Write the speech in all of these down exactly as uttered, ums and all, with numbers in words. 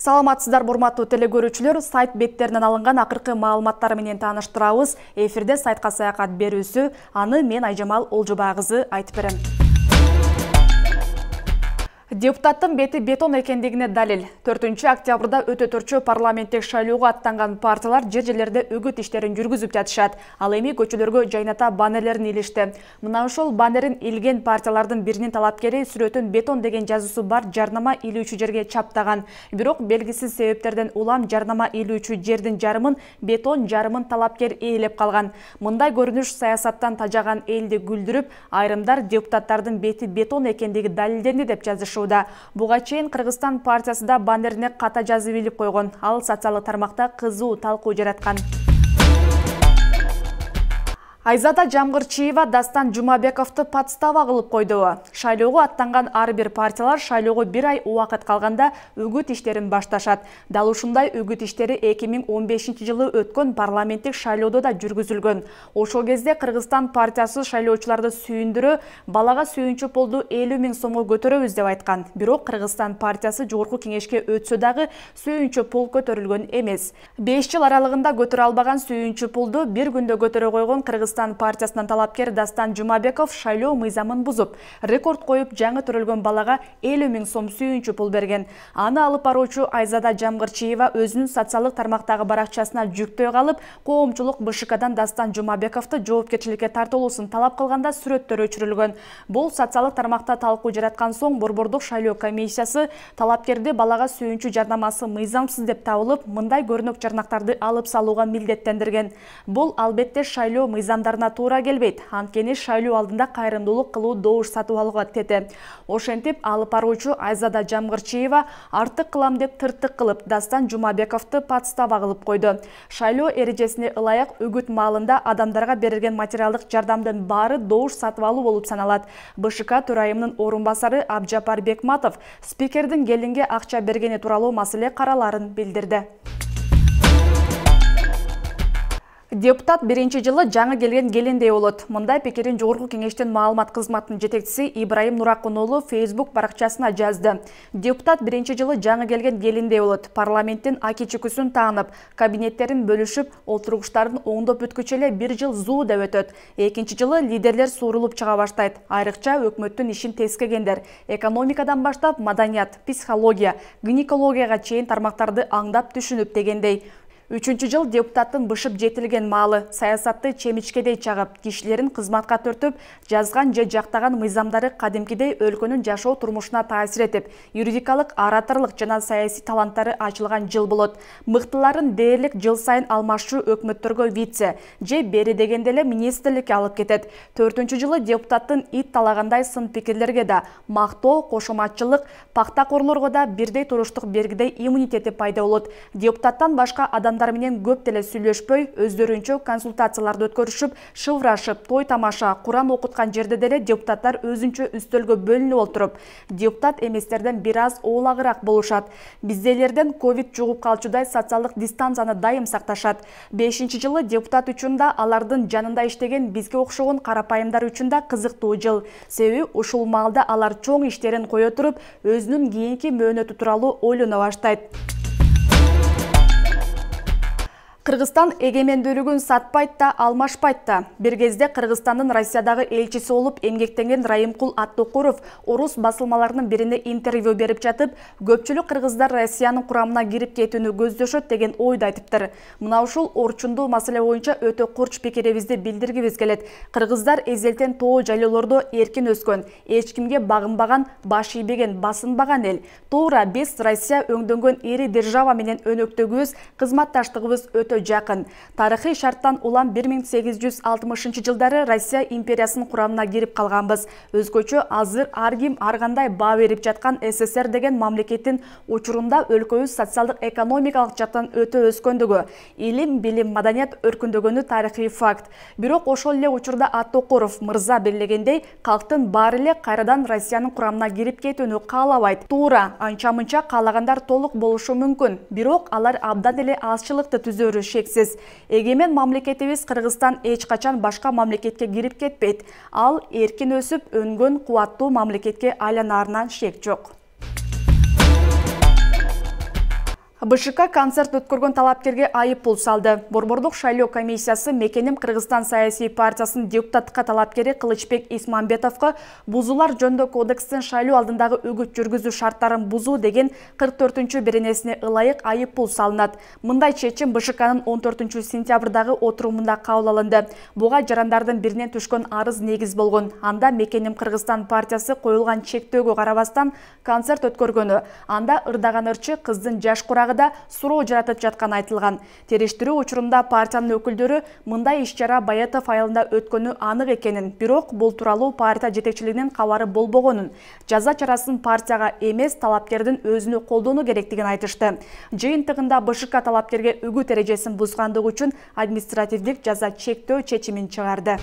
Саламатсыздар, урматтуу телекөрүүчүлөр, сайт беттеринен алынган акыркы маалыматтар менен тааныштырабыз. Эфирде сайтка саякат берүүсү, аны мен Айжамал Олжобай кызы айтып берем. Депутаттын бети бетон экендигине далил. төртүнчү октябрда өтө төртчү парламенттик шайлоого аттанган партиялар жер жерлерде үгүт иштерин жүргүзүп жатышат. Ал эми көчөлөргө жайната баннерлерин илишти. Мына ошол баннерин илген партиялардын биринин талапкери сүрөтүн бетон деген жазуусу бар жарнама илүүчү жерге чаптаган. Бирок белгисиз себептерден улам жарнама илүүчү жердин жарымын бетон, жарымын талапкер ээлеп калган. Мындай көрүнүш саясаттан тажаган элди күлдүрүп, айрымдар депутаттардын бети бетон экендиги далилденди деп жазышты. Буга чейин Кыргызстан партиясы да баннерине ката жазып илип койгон. Ал социалдык тармакта кызуу талкуу жараткан. Айзада Жамгырчиева Дастан Жумабековду подстава кылып койду. Шайлоого аттанган ар бир партиялар шайлоого бир ай убакыт калганда үгүт иштерин башташат. Дал ушундай үгүт иштери эки миң он бешинчи жылы өткөн парламенттик шайлоодо да жүргүзүлгөн. Ошол кезде Кыргызстан партиясы шайлоочуларды сүйүндүрө, балага сүйүнчү пулду элүү миң сомго көтөрөбүз деп айткан. Бирок Кыргызстан партиясы жогорку кеңешке өтсө дагы сүйүнчү пул көтөрүлгөн эмес. беш жыл аралыгында көтөрө албаган сүйүнчү пулду бир күндө көтөрө койгон Кыргызстан Кыргызстан партиясынан талапкер Дастан Жумабеков шайлоо мыйзамын бузуп, рекорд коюп жаңы төрөлгөн балага элүү миң сом сүйүнчү пул берген. Аны алып баруучу Айзада Жамгырчиева өзүнүн социалдык тармактагы баракчасына жүктөй калып, коомчулук БШКдан Дастан Жумабековду жоопкерчиликке тартылуусун талап кылганда сүрөттөр өчүрүлгөн. Бул социалдык тармакта талкуу жараткан соң Борбордук шайлоо комиссиясы талапкерди балага сүйүнчү жарнамасы мыйзамсыз деп табылып, мындай көрүнөк жарнактарды алып салууга милдеттендирген. Бул албетте шайлоо мыйзам туура келбейт. Анткени шайлоо алдында кайрымдуулук кылуу добуш сатып алууга тети. Ошентип алып баруучу Айзада Жамгырчиева артык кылам деп тыртык кылып Дастан Жумабековду подстава кылып койду. Шайлоо эрежесине ылайык үгүт маалында адамдарга берилген материалдык жардамдын баары добуш сатып алуу болуп саналат. БШК төрайымынын орун басары Абжапар Бекматов спикердин келинге акча бергени тууралуу маселе караларын билдирди. Депутат биринчи жылы жаңы келген келиндей болот. Мындай пикирин жогорку кеңештин маалымат кызматынын жетекчиси Ибраим Нуракун уулу Facebook баракчасына жазды. Депутат биринчи жылы жаңы келген келиндей болот. Парламенттин аки-чүкүсүн таанып, кабинеттерин бөлүшүп, олтургучтарын оңдоп бүткүчө эле бир жыл зуу деп өтөт. Экинчи жылы лидерлер суурулуп чыга баштайт. Айрыкча өкмөттүн ишин тескегендер, экономикадан баштап маданият, психология, гинекологияга чейин тармактарды аңдап түшүнүп дегендей. Үчүнчү жыл депутаттын бышып жетилген маалы, саясатты чемичкедей чагып, кишилерин кызматка төртүп, жазган же жактаган мыйзамдары кадимкидей өлкөнүн жашоо турмушуна таасир этип, юридикалык, ораторлук жана саясий таланттары ачылган жыл болот. Мыктыларын дээрлик жыл сайын алмашчу өкмөттөргө вице же бери дегенде эле министрликке алып кетет. Төртүнчү жылы депутаттын ит талагандай сын пикирлерге да, мактоо, кошоматчылык, пактакорлорго да бирдей туруштук бергидей иммунитети пайда болот. Депутаттан башка адам менен көп деле сүйлөшпөй, өздөрүнчө консультацияларды өткөрүшүп, шылрашып, той тамаша, Куран окуткан жерде деле депутаттар өзүнчө үстөлгө бөлүнүп олтуруп, депутат эместерден бир аз оолагыраак болушат. Биздейлерден ковид жугуп калчудай социалдык дистанцияны дайым сакташат. Бешинчи жылы депутат үчүн да, алардын жанында иштеген бизге окшогон карапайымдар үчүн да кызыктуу жыл. Себеби ушул маалда алар чоң иштерин кое туруп, өзүнүн кийинки мөөнөтү тууралуу ойлоно баштайт. Кыргызстан эгемендүүлүгүн сатпайт да, алмашпайт да. Бир кезде Кыргызстандын Россиядагы элчиси болуп эмгектенген Райымкул Аттокуров орус басылмаларынын бирине интервью берип жатып, көпчүлүк кыргыздар Россиянын курамына кирип кетүүнү көздөшөт деген ойду айтыптыр. Мына ушул орчундуу маселе боюнча өтө курч пикирибизди билдиргибиз келет. Кыргыздар эзелтен тоо жайлоолордо эркин өскөн, эч кимге багынбаган, баш ийбеген, басынбаган эл. Туура биз Россия өңдөнгөн ири держава менен өнөктөгүбүз, кызматташтыгыбыз өтө жакын. Тарыхый шарттан улам бир миң сегиз жүз алтымышынчы жылдары Россия империясынын курамына кирип калганбыз. Өзгөчө азыр ар ким ар кандай баа берип жаткан СССР деген мамлекеттин учурунда өлкөбүз социалдык экономикалык жактан өтө өскөндүгү, илим, билим, маданият өркүндөгөнү тарыхый факт. Бирок ошол эле учурда Аттокуров мырза белгилегендей, калктын баары эле кайрадан Россиянын курамына кирип кетүүнү каалабайт. Туура, анча-мынча каалагандар толук болушу мүмкүн. Бирок алар абдан эле азчылыкты түзөрү шексиз. Эгемен мамлекетибиз Кыргызстан эч качан башка мамлекетке кирип кетпейт. Ал эркин өсүп, өнгөн кубаттуу мамлекетке айланаарынан шек жок. БШК концерт өткөргөн талапкерге айып пул салды. Борбордук шайлоо комиссиясы Мекеним Кыргызстан саясий партиясынын депутаттыкка талапкери Кылычбек Исмамбетовго бузуулар жөнүндө кодекстин шайлоо алдындагы үгүт жүргүзүү шарттарын бузуу деген кырк төртүнчү беренесине ылайык айып пул салынат. Мындай чечим БШКнын он төртүнчү сентябрдагы отурумунда кабыл алынды. Буга жарандардын биринен түшкөн арыз негиз болгон. Анда Мекеним Кыргызстан партиясы коюлган чектөөгө карабастан концерт өткөргөнү, анда ырдаган ырчы кыздын жаш курагы да суроо жаратып жатканы айтылган. Териштирүү учурунда партиянын өкүлдөрү мындай иш-чара Баятов айылында өткөнү анык экенин, бирок бул тууралуу партия жетекчилигинин кабары болбогонун, жаза чарасын партияга эмес талапкердин өзүнө колдонуу керектигин айтышты. Жыйынтыгында БШК талапкерге үгүт эрежесин бузгандыгы үчүн административдик жаза чектөө чечимин чыгарды.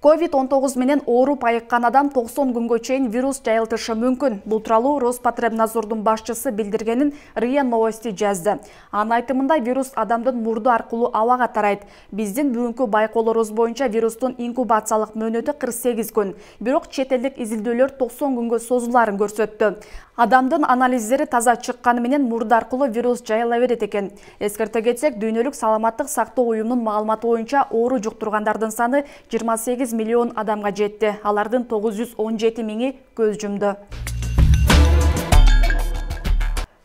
ковид он тогуз менен ооруп айыккан адам токсон күнгө чейин вирус жайылтышы мүмкүн. Бул тууралуу Роспотребнадзордун башчысы билдиргенин РИА Новости жазды. Анын айтымында вирус адамдын мурду аркылуу абага тарайт. Биздин бүгүнкү байкоолорубуз боюнча вирустун инкубациялык мөөнөтү кырк сегиз күн. Бирок чет элдик изилдөөлөр токсон күнгө созулаарын көрсөттү. Адамдын анализдери таза чыкканы менен мурду аркылуу вирус жайыла берет экен. Эскерте кетсек, Дүйнөлүк саламаттык сактоо уюмунун маалыматы боюнча оору жуктургандардын саны жыйырма сегиз миллион адамга жетти. Алардын тогуз жүз он жети миңи көз жумду.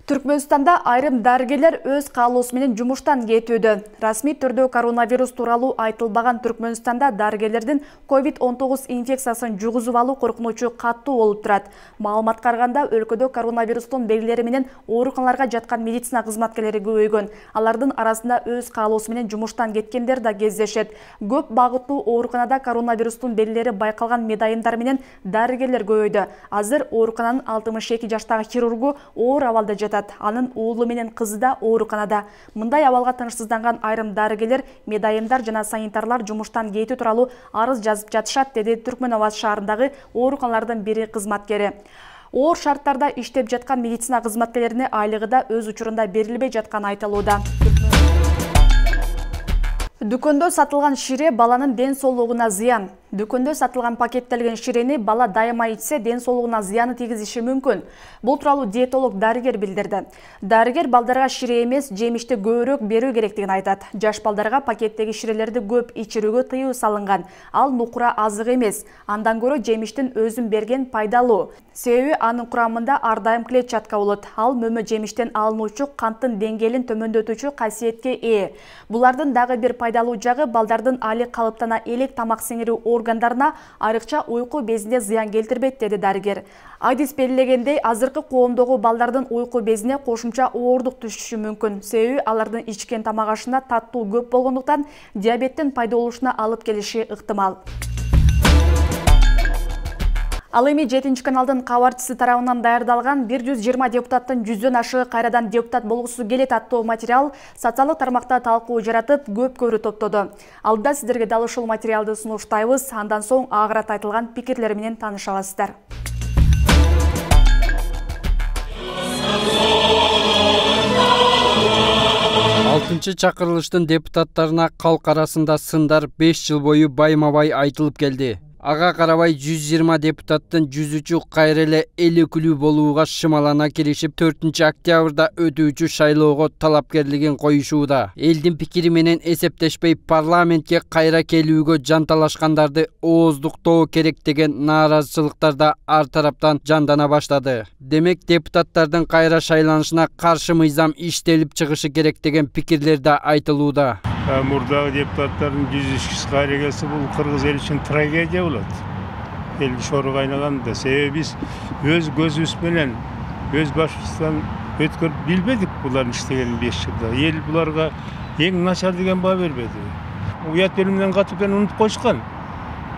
Түркмөнстанда айрым дарыгерлер өз каалоосу менен жумуштан кетүүдө. Расмий түрдө коронавирус тууралуу айтылбаган Түркмөнстанда дарыгерлердин ковид он тогуз инфекциясын жугузуп алуу коркунучу каттуу болуп турат. Маалыматка караганда, өлкөдө коронавирустун белгилери менен ооруканаларга жаткан медицина кызматкерлери көбөйгөн. Алардын арасында өз каалоосу менен жумуштан кеткендер да кездешет. Көп багыттуу ооруканада коронавирустун белгилери байкалган медайымдар менен дарыгерлер көбөйдү. Азыр оорукананын алтымыш эки жаштагы хирургу оор абалда жатат. Анын уулу менен кызы да ооруканада. Мындай абалга тынчсызданган айрым дарыгерлер, медайымдар жана санитарлар жумуштан кетүү тууралуу арыз жазып жатышат, деди Түркмөнабад шаарындагы ооруканалардын бири кызматкери. Оор шарттарда иштеп жаткан медицина кызматкерлерине айлыгы да өз учурунда берилбей жатканы айтылууда. Дүкөндө сатылган шире баланын ден соолугуна зыян. Дүкөндө сатылган пакеттелген ширени бала дайыма ичсе ден соолугуна зыяны тийгизиши мүмкүн. Бул тууралуу диетолог дарыгер билдирди. Дарыгер балдарга шире эмес, жемишти көбүрөөк берүү керектигин айтат. Жаш балдарга пакеттеги ширелерди көп ичирүүгө тыюу салынган. Ал нукура азык эмес. Андан көрө жемиштин өзүн берген пайдалуу. Себеби анын курамында ар дайым клетчатка болот. Ал мөмө жемиштен алынуучу канттын деңгээлин төмөндөтүүчү касиетке ээ. Булардын дагы бир пайдалуу жагы балдардын али калыптана элек тамак сиңирүү органдарына, айрыкча уйку безине зыян келтирбейт, деди дарыгер. Адис белгилегендей, азыркы коомдогу балдардын уйку безине кошумча оордук түшүшү мүмкүн. Себеби алардын ичкен тамак ашына таттуу көп болгондуктан диабеттин пайда болушуна алып келиши ыктымал. Ал эми жетинчи каналдын кабарчысы тарабынан даярдалган бир жүз жыйырма депутаттын жүздөн ашыгы кайрадан депутат болгусу келет аттуу материал социалдык тармакта талкуу жаратып, көп көрүү топтоду. Алда сиздерге дал ушул материалды сунуштайбыз, андан соң агырат айтылган пикирлер менен таанышасыздар. алтынчы чакырылыштын депутаттарына калк арасында сындар беш жыл бою байма-бай айтылып келди. Ага карабай жүз жыйырма депутаттын жүз үчү кайра эле эл өкүлү болууга шымалана киришип, төртүнчү октябрда өтүүчү шайлоого талапкерлигин коюшууда. Элдин пикири менен эсептешпей парламентке кайра келүүгө жанталашкандарды ооздуктоо керек деген нааразычылыктар да ар тараптан жандана баштады. Демек, депутаттардын кайра шайланышына каршы мыйзам иштелип чыгышы керек деген пикирлер да айтылууда. Мурдагы депутаттардын жүз үч кайра келсе, бул кыргыз эл үчүн трагедия болот. Эл шорго айналганда, себеби биз өз көзүбүз менен, өз башыбыздан өткөрүп билбедик булардын иштегенин беш жылда. Эл буларга эң начар деген баа бербеди. Уят белимден катып келип унутуп коюшкан.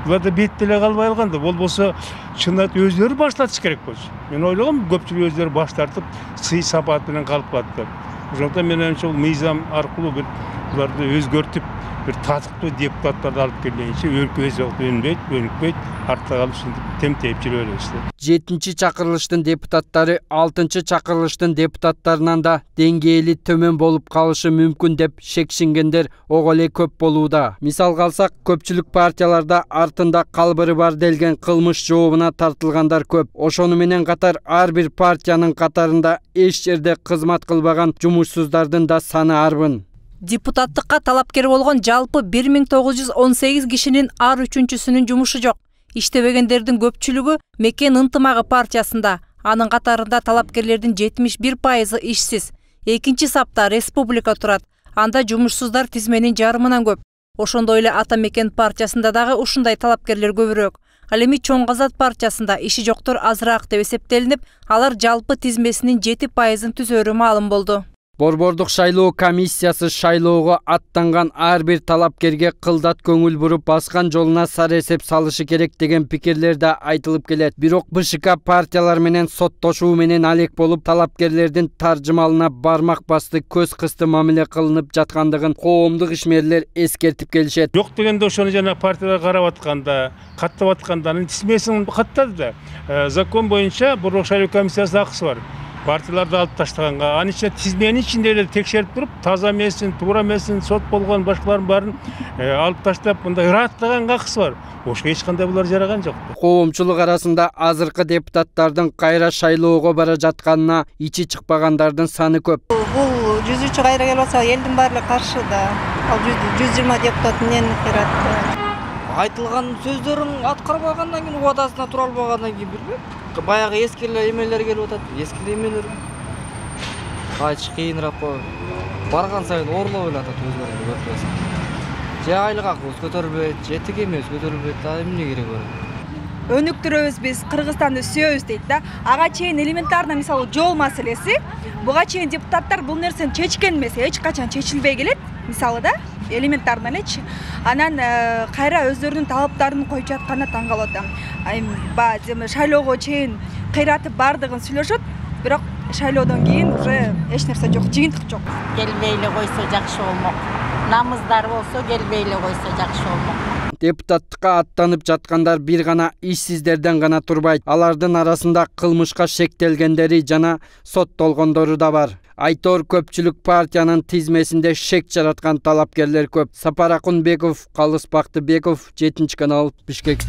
Булар да бет деле калбай калган да, болбосо чынат өздөрү баштатыш керек болчу. Мен ойлогом, көпчүлүк өздөрү баш тартып, сый сапат менен калып калды. Ошондуктан мен ойлоймчу, мыйзам аркылуу бир буларды өзгөртүп, бир татыктуу депутаттарды алып келгенче өлкөбүз өнбөйт, өнүкпөйт, артта калып ушинтип темтейип жүрө беребиз да. жетинчи чакырылыштын депутаттары алтынчы чакырылыштын депутаттарынан да деңгээли төмөн болуп калышы мүмкүн деп шекшингендер ого эле көп болууда. Мисалга алсак, көпчүлүк партияларда артында калбыры бар делген кылмыш жообуна тартылгандар көп. Ошону менен катар ар бир партиянын катарында эч жерде кызмат кылбаган жумушсуздардын да саны арбын. Депутаттыкка талапкер болгон жалпы бир миң тогуз жүз он сегиз кишинин ар үчүнчүсүнүн жумушу жок. Иштебегендердин көпчүлүгү Мекен ынтымагы партиясында. Анын катарында талапкерлердин жетимиш бир пайызы ишсиз. Экинчи сапта республика турат. Анда жумушсуздар тизменин жарымынан көп. Ошондой эле Ата Мекен партиясында дагы ушундай талапкерлер көбүрөөк. Ал эми Чоң Казат партиясында иши жоктор азыраак деп эсептелинип, алар жалпы тизмесинин жети пайызын түзөрү маалым болду. Борбордук шайлоо комиссиясы шайлоого аттанган ар бир талапкерге кылдат көңүл буруп баскан жолуна сары эсеп салышы керек деген пикирлер да айтылып келет. Бирок БШК партиялар менен соттошуу менен алек болуп, талапкерлердин таржымалына бармак басты, көз кысты мамиле кылынып жаткандыгын коомдук ишмерлер эскертип келишет. Жок дегенде ошону жана партиялар карап атканда, каттап атканда анын тизмесин каттады да. Закон боюнча Борбордук шайлоо комиссиясынын акысы бар. Партияларды алып таштаганга, анын ичинде тизменин ичинде эле текшерип туруп, таза эмесин, туура эмесин, сот болгон башкаларын баарын алып таштап, мындай ыраттаганга акысы бар. Ошо эч кандай булар жараган жок. Коомчулук арасында азыркы депутаттардын кайра шайлоого бара жатканына ичи чыкпагандардын саны көп. Бул жүзүчү кайра келип атса, элдин баары каршы да. Ал жүз жыйырма депутат эмнени кыйратты? Айтылган сөздөрүн аткарбагандан кийин, убадасына тура албагандан кийин билбейм. Баягы эски эле эмелер келип атат, эски эле эмелер. Кайчы кыйыныраак коюп, барган сайын орлоп эле атат өзгөрүп көрсөтөсүң. Же айлык акыбыз көтөрүлбөйт, же тиги эмебиз көтөрүлбөйт, а эмне керек бар? Өнүктүрөбүз биз, Кыргызстанды сүйөбүз дейт да. Ага чейин элементарно мисалы жол маселеси, буга чейин депутаттар бул нерсени чечкен эмес, эч качан чечилбей келет. Мисалы да, элементарно элечи. Анан кайра өздөрүнүн талаптарын коюп жатканына таң калып атам. Баягы шайлоого чейин кыйратып бардыгын сүйлөшөт, бирок шайлоодон кийин уже эч нерсе жок, жыйынтык жок. Келбей эле койсо жакшы болмок. Намыздар болсо келбей эле койсо жакшы болмок. Депутаттыкка аттанып жаткандар бир гана ишсиздерден гана турбайт. Алардын арасында кылмышка шектелгендери жана соттолгондору да бар. Айтор көпчүлүк партиянын тизмесинде шек жараткан талапкерлер көп. Сапар Акунбеков, Калыс Бактыбеков, жетинчи канал, Бишкек.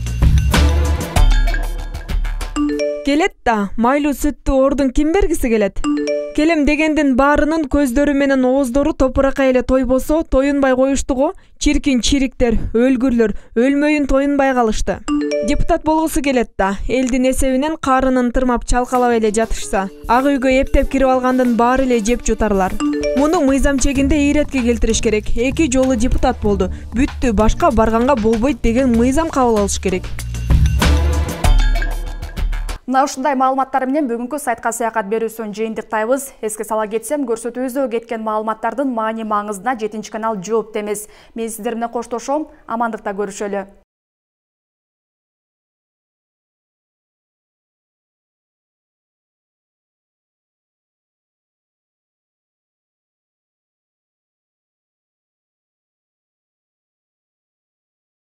Келет да, майлуу сүттү ордун ким бергиси келет? Келем дегендин баарынын көздөрү менен ооздору топуракка эле тойбосо, тоюнбай коюшту го. Чиркин чириктер, өлгүрлөр, өлмөйүн тоюнбай калышты. Депутат болгусу келет да, элдин эсебинен карынын тырмап чалкалап эле жатышса, ак үйгө эптеп кирип алгандын баары эле жеп жутарлар. Муну мыйзам чегинде ийретке келтириш керек. Эки жолу депутат болду. Бүттү, башка барганга болбойт деген мыйзам кабыл алыш керек. Мына ушундай маалыматтар менен бүгүнкү сайтка саякат берүүсүн жыйынтыктайбыз. Эске сала кетсем, көрсөтүүбүздө кеткен маалыматтардын маани маңызына жетинчи канал жооп эмес. Мен сиздер менен коштошом, амандыкта көрүшөлү.